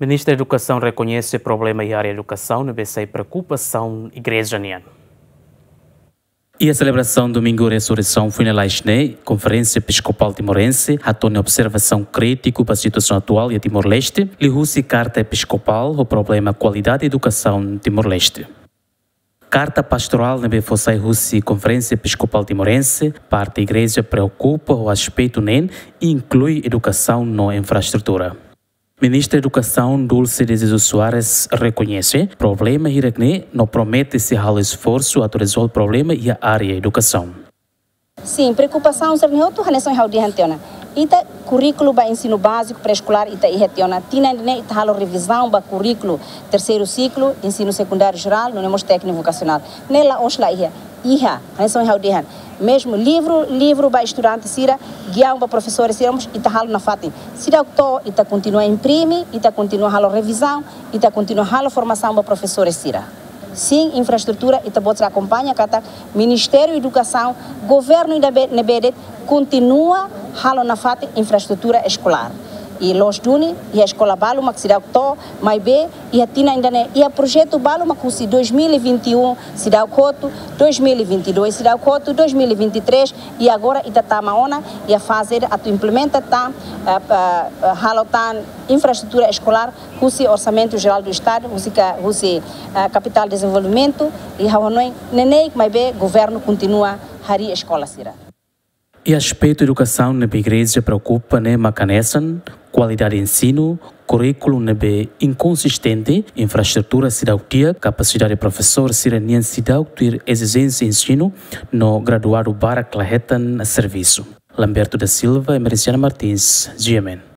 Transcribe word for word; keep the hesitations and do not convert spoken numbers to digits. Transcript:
Ministra Edukasaun rekoñese problema iha área edukasaun ne'ebé sai preokupasaun igreja nian. Iha selebrasaun Domingu Resureisaun foin lalais ne'e, Konferénsia Episkopál Timorense hato'o nia observasaun krítiku ba situasaun atuál iha Timor-Leste, liuhusi karta episkopál ho problema kualidade edukasaun Timor-Leste. Karta pastorál ne'ebé fó sai husi Konferénsia Episkopál Timorense, parte igreja preokupa ho aspetu ne'e, inklui edukasaun no infraestrutura. Ministra Edukasaun Dulce de Jesus Soares rekoñese problema hirak ne'e no promete sei halo esforsu atu rezolve problema iha área edukasaun. Sin, preokupasaun sira-ne'e hotu hanesan ohin ha'u dehan tiha ona. Ita kurríkulu ba ensinu báziku, pré-eskolár ita iha tiha ona. Tinan ida-ne'e ita halo revizaun ba kurríkulu terseiru siklu, ensinu sekundáriu jerál, nune'e mós tékniku vokasionál. Ne'e la'ós la iha. Iha, hanesan ohin ha'u dehan. Mezmu livru, livru ba estudante sira, giaun ba profesór sira, mós ita halo nafatin. Seidauk to'o, ita kontinua imprime, ita kontinua halo revizaun, ita kontinua halo formasaun ba profesór sira. Sin, infraestrutura, ita-boot sira akompaña katak Ministériu Edukasaun, governu ida be-, ne'ebé de'it, kontinua halo nafatin infraestrutura eskolár. I loos duni, iha eskola balu mak seidauk to'o, maibé iha tinan ida-ne'e, iha projetu balu mak husi dois mil e vinte e um seidauk hotu, dois mil e vinte e dois seidauk hotu, dois mil e vinte e três, i agora ita tama ona iha faze atu implementa tan, eh, eh, eh, halo tan infraestrutura eskolár husi Orsamentu Jerál do Estadu, husi ka-, husi, eh, Kapitál Dezenvolvimentu, i ha'u hanoin ne'e ne'e maibé governu kontinua harii eskola sira. Iha aspetu edukasaun ne'ebé igreja preokupa ne'e mak hanesan kualidade ensinu, kurríkulu ne'ebé inkonsistente, infraestrutura seidauk di'ak, kapasidade profesór sira-nian seidauk tuir ezijénsia ensinu, no graduadu barak la hetan servisu. Lamberto da Silva, Emerenciana Martins, G M N.